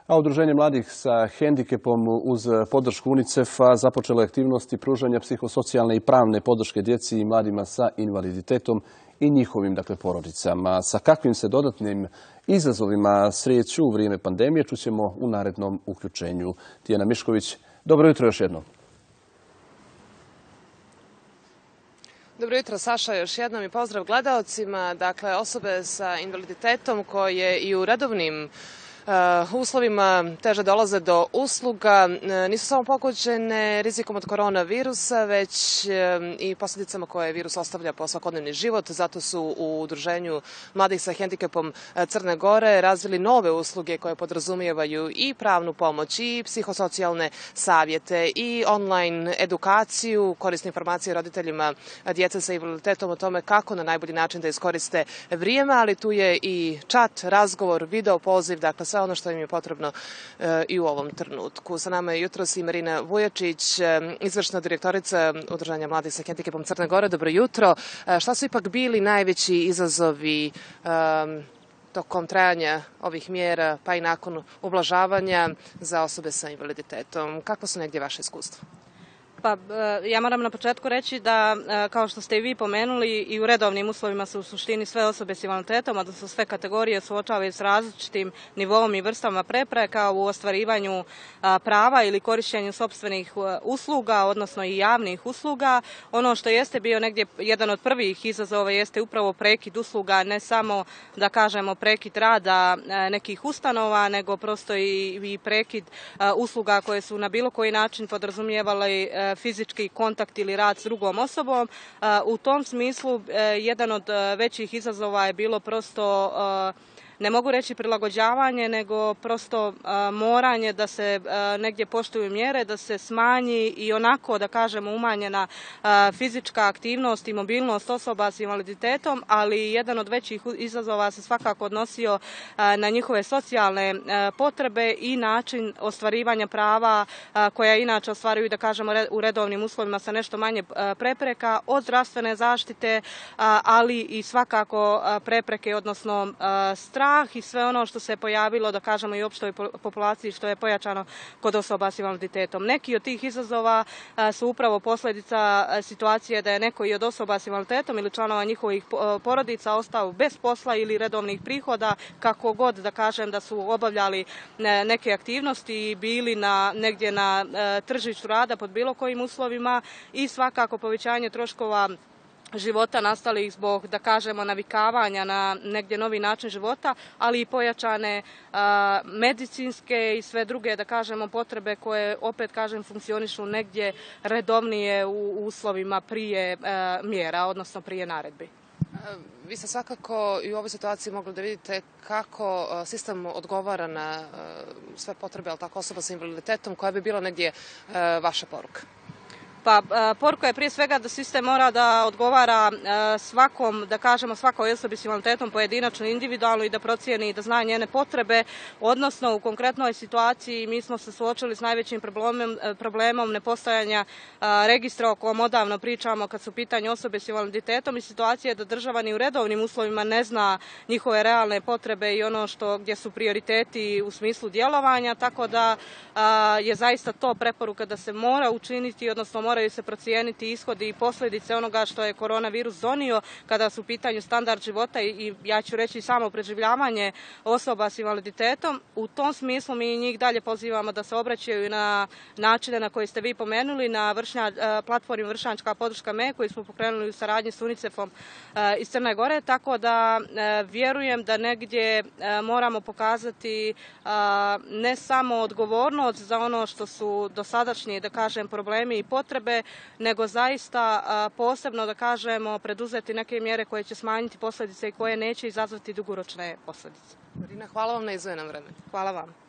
A Udruženje mladih sa hendikepom uz podršku UNICEF-a započelo je aktivnosti pružanja psihosocijalne i pravne podrške djeci i mladima sa invaliditetom i njihovim porodicama. Sa kakvim se dodatnim izazovima sreću u vrijeme pandemije čućemo u narednom uključenju. Tijana Mišković, dobro jutro još jednom. Dobro jutro, Saša, još jednom i pozdrav gledaocima. Dakle, osobe sa invaliditetom koje i u redovnim uslovima teže dolaze do usluga nisu samo pogođene rizikom od koronavirusa, već i posljedicama koje virus ostavlja po svakodnevni život. Zato su u Udruženju mladih sa hendikepom Crne Gore razvili nove usluge koje podrazumijevaju i pravnu pomoć, i psihosocijalne savjete, i online edukaciju, korisne informacije roditeljima djece sa invaliditetom o tome kako na najbolji način da iskoriste vrijeme, ali tu je i chat, razgovor, video poziv, dakle sve ono što im je potrebno i u ovom trenutku. Sa nama je jutros i Marina Vujačić, izvršna direktorica Udruženja mladih sa hendikepom Crne Gore. Dobro jutro. Šta su ipak bili najveći izazovi tokom trajanja ovih mjera, pa i nakon ublažavanja za osobe sa invaliditetom? Kakva su negdje vaše iskustva? Pa ja moram na početku reći da, kao što ste i vi pomenuli, i u redovnim uslovima su u suštini sve osobe s invaliditetom, a da su sve kategorije suočavaju s različitim nivom i vrstama prepreka u ostvarivanju prava ili korištenju sopstvenih usluga, odnosno i javnih usluga. Ono što jeste bio negdje jedan od prvih izazova jeste upravo prekid usluga, ne samo da kažemo prekid rada nekih ustanova, nego prosto i prekid usluga koje su na bilo koji način podrazumijevale fizički kontakt ili rad s drugom osobom. U tom smislu jedan od većih izazova je bilo prosto, ne mogu reći prilagođavanje, nego prosto moranje da se negdje poštuju mjere, da se smanji i onako, da kažemo, umanjena fizička aktivnost i mobilnost osoba s invaliditetom, ali jedan od većih izazova se svakako odnosio na njihove socijalne potrebe i način ostvarivanja prava koja inače ostvaruju, da kažemo, u redovnim uslovima sa nešto manje prepreka, od zdravstvene zaštite, ali i svakako prepreke, odnosno strah i sve ono što se pojavilo, da kažemo, i opštoj populaciji, što je pojačano kod osoba s invaliditetom. Neki od tih izazova su upravo posljedica situacije da je neko i od osoba s invaliditetom ili članova njihovih porodica ostao bez posla ili redovnih prihoda, kako god da kažem da su obavljali neke aktivnosti i bili negdje na tržištu rada pod bilo kojim uslovima, i svakako povećanje troškova života nastalih zbog, da kažemo, navikavanja na negdje novi način života, ali i pojačane medicinske i sve druge, da kažemo, potrebe koje, opet kažem, funkcionišu negdje redovnije u uslovima prije mjera, odnosno prije naredbi. Vi ste svakako i u ovoj situaciji mogli da vidite kako sistem odgovara na sve potrebe, ali tako, osoba sa invaliditetom. Koja bi bila negdje vaša poruka? Pa poruka je prije svega da sistem mora da odgovara svakom, da kažemo, svakoj osobi s invaliditetom pojedinačno, individualno, i da procijeni i da zna njene potrebe, odnosno u konkretnoj situaciji mi smo se suočili s najvećim problemom nepostojanja registra o kojem odavno pričamo kad su u pitanju osobe s invaliditetom, i situacije da država ni u redovnim uslovima ne zna njihove realne potrebe i ono gdje su prioriteti u smislu djelovanja, tako da je zaista to preporuka da se mora učiniti, odnosno moraju se procijeniti ishodi i posljedice onoga što je koronavirus donio kada su u pitanju standard života i ja ću reći samo preživljavanje osoba s invaliditetom. U tom smislu mi njih dalje pozivamo da se obraćaju na načine na koje ste vi pomenuli, na platformi Vršnjačka podrška Me, koju smo pokrenuli u saradnji s UNICEF-om iz Crne Gore, tako da vjerujem da negdje moramo pokazati ne samo odgovornost za ono što su dosadašnji, da kažem, problemi i potrebe, nego zaista posebno, da kažemo, preduzeti neke mjere koje će smanjiti posljedice i koje neće izazvati dugoročne posljedice. Marina, hvala vam na izdvojenom vremenu. Hvala vam.